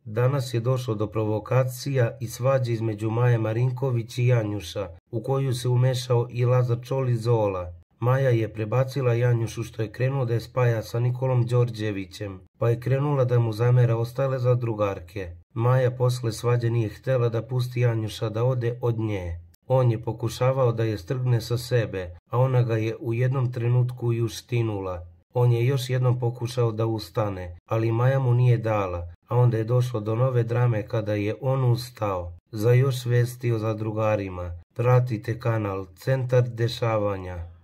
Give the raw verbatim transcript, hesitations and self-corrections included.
Danas je došlo do provokacija i svađe između Maje Marinković i Janjuša, u koju se umešao i Lazar Čolić Zola. Maja je prebacila Janjušu što je krenuo da je spaja sa Nikolom Đorđevićem, pa je krenula da mu zamera ostale zadrugarke. Maja posle svađe nije htjela da pusti Janjuša da ode od nje. On je pokušavao da je strgne sa sebe, a ona ga je u jednom trenutku i uštinula. On je još jednom pokušao da ustane, ali Maja mu nije dala, a onda je došlo do nove drame kada je on ustao. Za još vesti o zadrugarima pratite kanal Centar dešavanja.